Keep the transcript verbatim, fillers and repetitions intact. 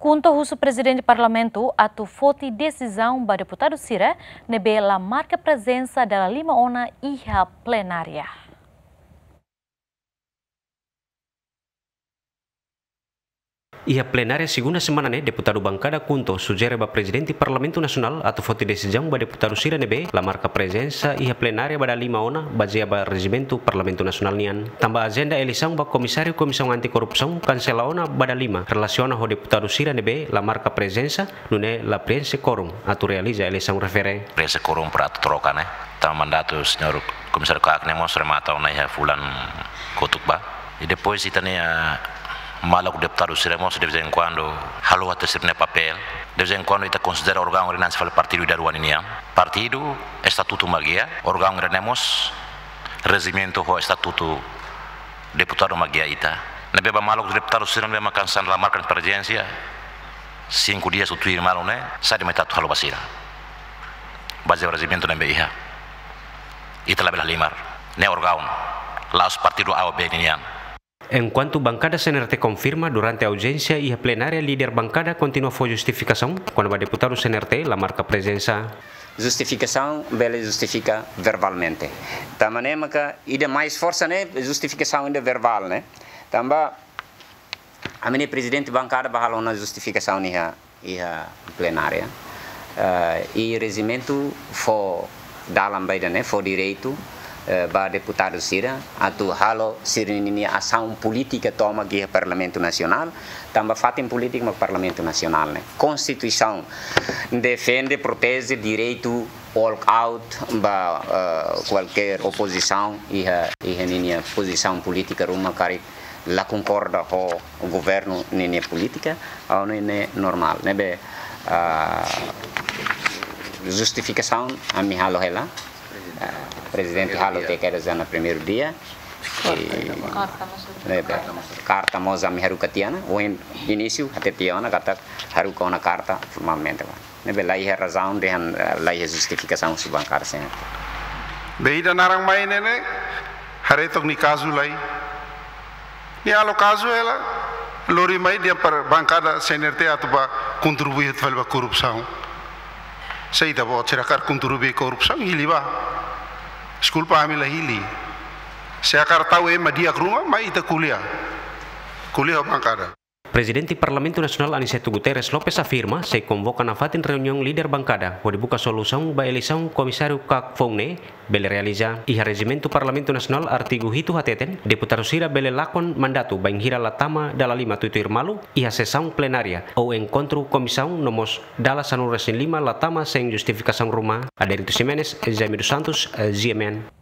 KHUNTO husu Prezidente Parlamentu atu foti desizaun ba deputadu sira ne'ebé la marka prezensa dala lima ona iha plenária. Iha plenária segunda semana ne'e, deputadu bankada KHUNTO sujere ba Prezidente Parlamentu Nasionál atu foti desizaun ba deputadu sira ne'ebé la marka prezensa iha plenária ba dala lima ona, bazeia ba rejimentu Parlamentu Nasionál nian. Tanba ajenda eleisaun ba Komisáriu Komisaun Anti-Korrupsaun kansela ona ba dala lima, relasiona ho deputadu sira ne'ebé la marka prezensa, nune'e la prienxe kuorum atu realiza eleisaun refere. Prienxe kuorum para atu troka, ne'e. Tanba mandatu señór Komisáriu KAK ne'e mós remata ona iha fulan kotuk ba. I depois ita-nia maluk deputadu sira mós de vez em quando halo até sira-nia papél. De vez em quando ita konsidera órgaun ida-ne'e hanesan fali partidu ida rua ninian. Partidu estatutu mak guia, órgaun ida-ne'e mós rejimentu ho estatutu deputadu mak guia ita. Ne'ebé ba maluk deputadu sira ne'ebé mak hanesan la marka prezensa, cinco dias ou tuir malu ne'e, saida mak ita atu halo ba sira. Bazeia ba rejimentu ne'ebé iha. Ita labele halimar. Ne'e órgaun. La'ós partidu A ou B ninian. Enkuantu bankada CNRT konfirma durante aujénsia iha plenária, líder bankada kontinua fó justifikasaun kona-ba deputadu CNRT la marka prezensa. Justifikasaun bele justifika verbalmente. Tanba ne'e maka ida mais forsa ne'e justifikasaun ida verbál, ne'e. Tanba ami-nia prezidente bankada bá halo ona justifikasaun iha, iha plenária. Eh, i rejimentu fó dalan ba ida-ne'e, fó direitu, eh, ba deputadu sira atu halo sira-ninia asaun polítika tomak iha Parlamentu Nasionál, tanba fatin polítika mak Parlamentu Nasionál ne'e. Konstituisaun defende, proteje direitu walk out ba, eh, kualkér opozisaun iha, iha ninia pozisaun polítika ruma karik la konkorda ho governu ninia polítika, ha'u hanoin ne'e normál. Ne'ebé, ah, justifikasaun ami halo hela. Ah, prezidente halo tiha kedas ona primeiru dia. I, ne'ebé, karta mós ami haruka tiha ona, ohin inísiu hatete tiha ona katak haruka ona karta formalmente ba. Ne'ebé la iha razaun dehan, eh, la iha justifikasaun husi bankada CNRT. Be ida naran mai ne'e ne'e, haree took nia kazu lai. Nia halo kazu hela, lori mai dehan para bankada CNRT atu bá kontribui atu fali ba korrupsaun. Se ita-boot sira hakarak kontribui korrupsaun, hili bá. Deskulpa, ami la hili. Se hakarak tau ema di'ak ruma, mai ita ko'alia. Ko'alia ho bankada. Prezidente Parlamentu Nasionál Aniceto Guterres Lopes afirma sei konvoka nafatin reuniaun líder bankada hodi buka solusaun ba eleisaun komisáriu KAK foun ne'e bele realiza. Iha rejimentu Parlamentu Nasionál artigu hitu hateten, deputadu sira bele lakon mandatu bainhira la tama dala lima tuir-tuir malu iha sesaun plenária ou enkontru komisaun no mós dala sanulu-resin-lima la tama sein justifikasaun ruma. Adérito Ximenes, Jaime dos Santos, GMN.